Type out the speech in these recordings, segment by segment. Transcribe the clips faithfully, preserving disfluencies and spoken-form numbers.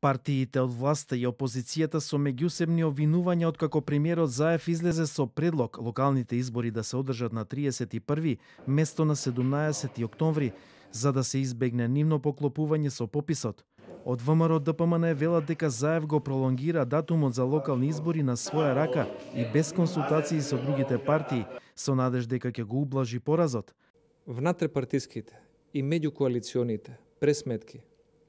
Партиите од власта и опозицијата со меѓусебни обвинувања откако премиерот Заев излезе со предлог локалните избори да се одржат на триесет и први место на седумнаесети октомври, за да се избегне нивно поклопување со пописот. Од ВМРО Д П М Н велат дека Заев го пролонгира датумот за локални избори на своја рака и без консултации со другите партии, со надеж дека ќе го ублажи поразот. Внатре-партиските и меѓукоалиционите пресметки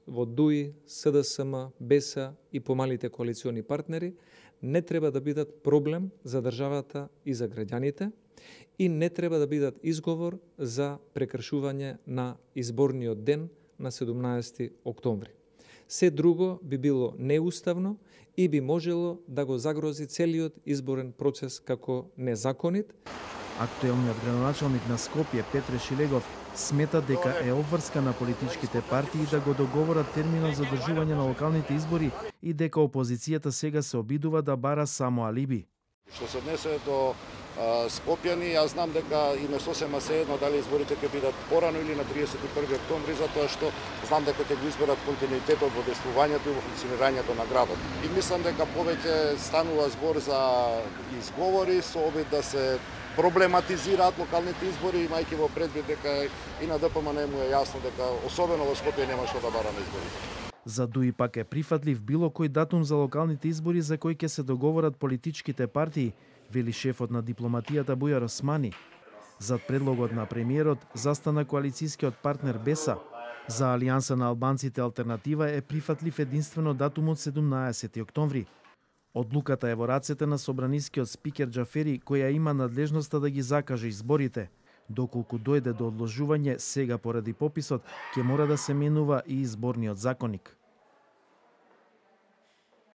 во Д У И, С Д С М, Б С и помалите коалициони партнери не треба да бидат проблем за државата и за граѓаните и не треба да бидат изговор за прекршување на изборниот ден на седумнаесети октомври. Се друго би било неуставно и би можело да го загрози целиот изборен процес како незаконит. Актуелниот градоначалник на Скопје Петре Шилегов смета дека е обврска на политичките партии да го договорат терминот за одржување на локалните избори и дека опозицијата сега се обидува да бара само алиби. Што се однесе до а, Скопјани, јас знам дека им е сосема сеедно дали изборите ќе бидат порано или на триесет и први октомври, затоа што знам дека ќе го изберат континуитетот во действувањето и во функционирањето на градот. И мислам дека повеќе станува збор за изговори со обид да се проблематизираат локалните избори, имајќи во предвид дека и на Д П М Н му е јасно дека особено во Скопје нема што да бара на изборите. За Д У И пак е прифатлив било кој датум за локалните избори за кој ќе се договорат политичките партии, вели шефот на дипломатијата Бујар Османи. Зад предлогот на премиерот застана коалицијскиот партнер Б С А. За Алијанса на албанците алтернатива е прифатлив единствено датумот седумнаесети октомври. Одлуката е во рацете на собранискиот спикер Џафери, која има надлежноста да ги закаже изборите. Доколку дојде до одложување сега поради пописот, ќе мора да се менува и изборниот законник.